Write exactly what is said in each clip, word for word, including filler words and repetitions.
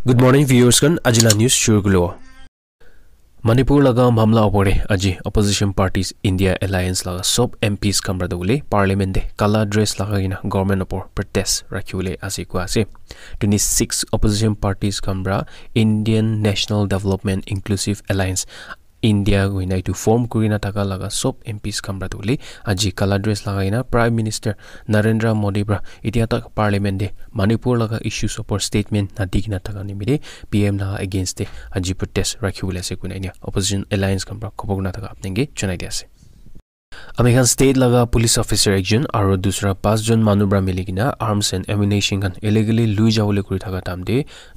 Good morning, viewers khan. Aji la news shuru kuribo. Manipur laga mamla opor te aji opposition parties India Alliance laga sob M Ps khan para tu hoile parliament te kala dress lagai kena government opor protest rakhi bole ase kua ase. Twenty six opposition parties khan para Indian National Development Inclusive Alliance India hoina etu form kuri kena thaka laga sob M Ps khan para tu hoile aji kala dress lagai kena Prime Minister Narendra Modi para itia tak parliament te Manipur laga issues opor statement na di kena thaka nimite P M laga against te aji protest rakhi bole ase koina enia opposition alliance khan para khobor kurina thaka apni ke janai di ase. Ami khan state laga police officer ekjon aro dusra pas jon manu para mili kena arms and ammunition khan illegally lui jabole kuri thaka time te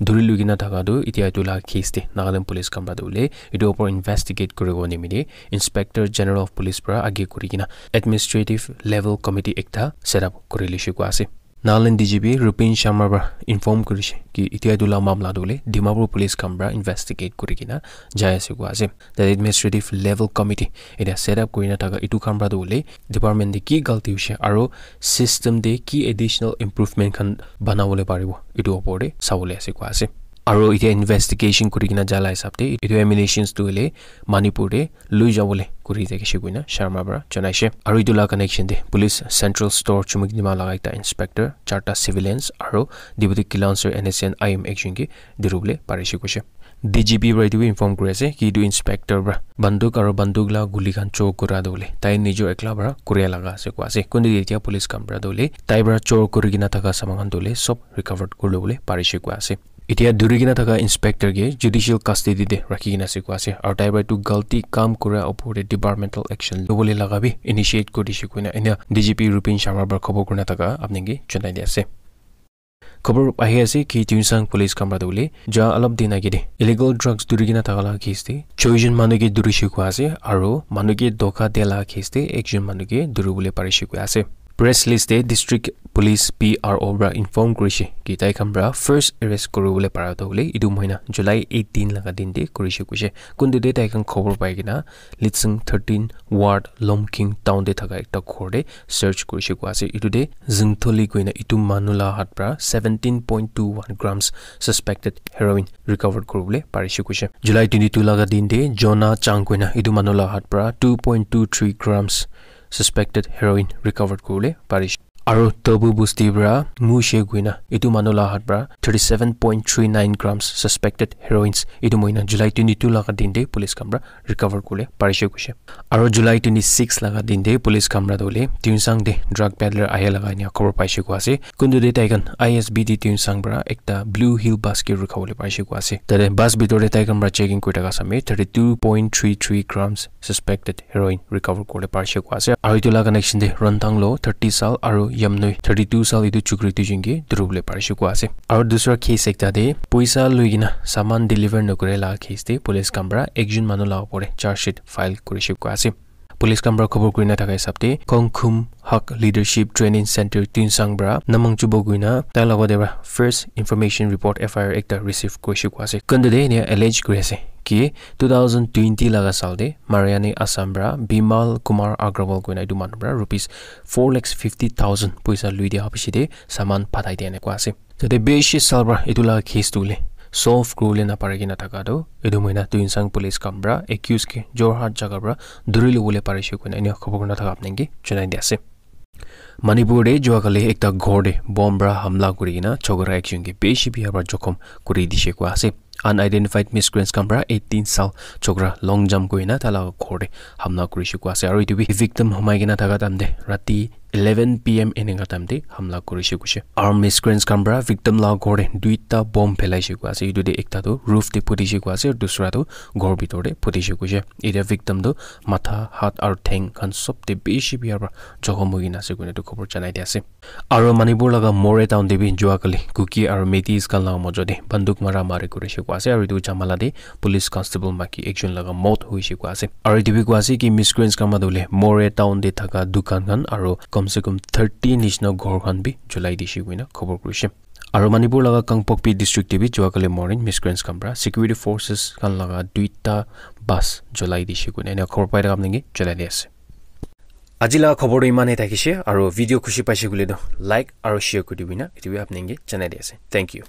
dhuri lui kena thaka tu itia etu laga case te Nagaland police khan para tu hoile etu opor investigate kuribo nimite Inspector General of Police para age kuri kena administrative level committee ekta set up kuri lishe kua ase. Nagaland D G P Rupin Sharma para inform kurishe ki itia etu la mamla tu hoile Dimapur police khan para investigate kuri kena jai ase kua ase. The administrative level committee etia set up kuri na thaka etu khan para tu hoile department te ki galti hoishe aro system te ki additional improvement khan banabole paribo etu opor te sabole ase kua ase. Aro itia investigation kuri kena jala hisab te etu ammunitions tu hoile Manipur te lui jabole kuri thakishe koina Sharma para janaishe. Aro etu la connection te police central store Chumukedima laga ekta inspector, charta civilians aro deputy kilanswer N S N I M ekjon ke dhuribole parishe koishe. D G P para etu bi inform kuri ase ki etu inspector para banduk aro banduk la guli khan chor kura tu hoile tai nijor ekla para kuria laga ase kua ase. Kuntu etia police khan para tu hoile tai para chor kuri kena thaka saman khan tu hoile sob recovered kuri lobole parishe kua ase. Itia dhuri kena thaka inspector ke judicial custody te rakhi kena ase kua ase aro tai para etu galti kam kura opor te departmental action lobole laga bi initiate kuri dishe koina enia D G P Rupin Sharma para khobor kurina thaka apni ke janai di ase. Khobor ahi ase ki Tuensang police khan para tu hoile ja alop din age te illegal drugs dhuri kena thaka laga case te choi jon manu ke dhurishe kua ase aro manu ke dhoka dia laga case te ekjon manu ke dhuribole parishe kua ase. Press list te district police P R O para inform kurishe ki tai khan para first arrest kuribole para tu hoile etu mohina July eighteen laga din te kurishe koishe. Kuntu te tai khan khobor pai kena Litsing thirteen ward Lomking town te thaka ekta ghor te search kurishe kua ase. Etu te Zingtholi koina etu manu la hat para seventeen point two one grams suspected heroin recovered kuribole parishe koishe. July twenty two laga din te Jonah Chang koina etu manu la hat para two point two three grams suspected heroin recovered kuribole parishe. Aro Tobu Busti para Ngu She koina etu manu la hat para thirty seven point three nine grams suspected heroines etu mohina July twenty two laga din te police khan para recover kuribole parishe koishe. Aro July twenty six laga din te police khan para tu hoile Tuensang te drug peddler ahe laga enia khobor paishe kua ase. Kuntu te tai khan I S B T Tuensang para ekta Blue Hill bus ke rukha bole paishe kua ase. Tate bus bitor te tai khan para checking kuri thaka samay thirty two point three three grams suspected heroin recover kuribole parishe kua ase. Aro etu la connection te Ronthang lo thirty sal aro Yamnoi thirty two sal etu chukri duijon ke dhuribole parishe kua ase. Aro dusra case ekta te poisa lui kena saman deliver nokore la case te police khan para ekjon manu la opor te charge sheet file kurishe kua ase. Police khan para khobor kurina thaka hisab te Kongkhum Hak Leadership Training Center Tuensang para Namang Chubo koina tai logot te para first information report F I R ekta receive kurishe kua ase. Kuntu te enia allege kuri ase ki two thousand twenty laga sal te Mariani Assam para Bimal Kumar Agrawal koina etu manu para rupees four lakhs fifty thousand poisa lui dia piche te saman pathai dia ena kua ase. Tate bishi sal para etu la case tu hoile solve kuribole napari kena thaka tu etu mohina Tuensang police khan para accused ke Jorhat jaga para dhuri lobole parishe koina enia khobor kurina thaka apni ke janai di ase. Manipur te jua kali ekta ghor te bomb para hamla kuri kena chokra ekjon ke bishi biya para jokhom kuri dishe kua ase. Unidentified miscreants khan para eighteen sal chokra long jump kuri kena tai la ghor te hamla kurishe kua ase. Aro etu bi victim humai kena thaka time te rati eleven P M eneka time te hamla kurishe koishe. Aro miscreants khan para victim la ghor te duita bomb phelaishe kua ase. Etu te ekta tu roof te phutishe kua ase, dusra tu ghor bitor te phutishe koishe. Etia victim tu matha, hat aro theng khan sob te bishi biya para jokhom hoi kena ase koina etu khobor janai di ase. Aro Manipur laga Moreh town te bi jua kali Kuki aro Meiteis khan laga mojo te banduk mara mari kurishe kua ase aro etu jhamala te police constable maki ekjon laga mot hoishe kua ase. Aro etu bi kua ase ki miscreants khan manu hoile Moreh town te thaka dukan khan aro kom se kom thirty nishina ghor khan bi julai dishe koina khobor kurishe. Aro Manipur laga Kangpokpi district te bi jua kali morning miscreants khan para security forces khan laga duita bus julai dishe koina ena khobor pai thaka apni ke janai di ase. Aji la khobor tu iman e thakishe, aro video khushi paishe koile tu like aro share kuri dibi na, etu bi apni ke janai di ase. Thank you.